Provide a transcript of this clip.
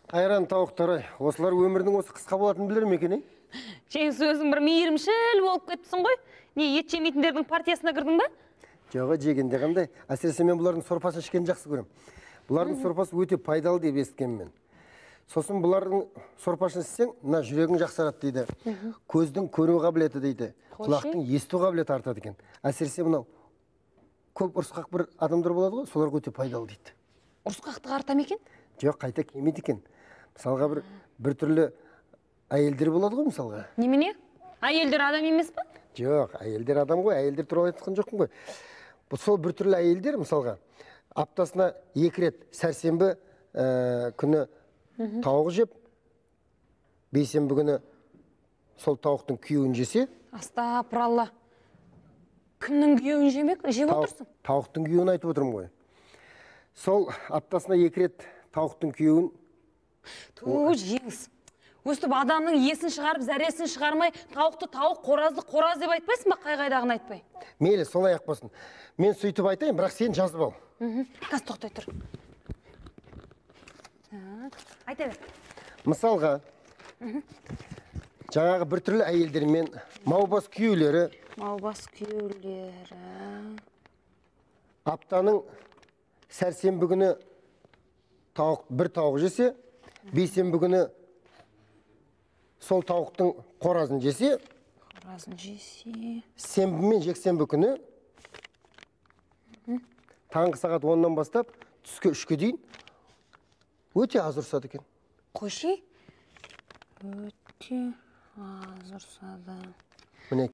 Айран тауықтары, осылар өмірдің осы қысқа болатынын білер ме екен? Жеңіс өзің бір мейірімшіл болып кеттісің ғой. Не, ет жемейтіндердің партиясына кірдің ба? Жоға, жегенде қандай. Әсіресе мен бұлардың сорпасын ішкенді жақсы көрем. Бұлардың сорпасы өте пайдалы деп естігенмін мен. Сосын бұлардың сорпасын ішсең, мына жүрегің жақсарады дейді. Көздің көру қабілеті дейді. Құлақтың есту қабілеті артады екен. Әсіресе мынау көп ұрысқақ бір адамдар болады ғой, соларға өте пайдалы дейді. Ұрысқақты артам екен? Жоқ, қайта кемейді екен. Мысалға бір түрлі әйелдер болады ғой, мысалға. Немене? Әйелдер адам емес па? Жоқ, әйелдер адам ғой, әйелдер туралы айтқан жоқпын ғой. Бұл сол бір түрлі әйелдер, мысалға, аптасына 2 рет сәрсенбі күні тауық жеп, бейсенбі күні сол тауықтың күйеуін жесе. Астапыралла. Кімнің күйеуін жеп отырсың? Тауықтың күйеуін айтып отырмын ғой. Сол аптасына 2 рет тауықтың күйеуін. Жеңіс. Өстіп адамның есін шығарып, зәресін шығармай, тауықты тауық, қоразды қораз деп айтпайсың ба, қай-қайдағын айтпай? Мейлі, солай ақпасын. Мен сөйтіп айтайын, бірақ сен жазып ал. Қаз тоқтай тұр. Айта бер. Мысалға, жаңағы бір түрлі әйелдермен маубас күйеулері. Маубас күйеулері. Аптаның сәрсенбі күні бір тауық жесе, бейсенбі күні сол тауықтың қоразын жесе, сенбі мен жексенбі күні таңғы сағат 10-нан бастап түскі 3-ке дейін өте аз ұрсады екен. Қойшы? Өте аз ұрсады. Міне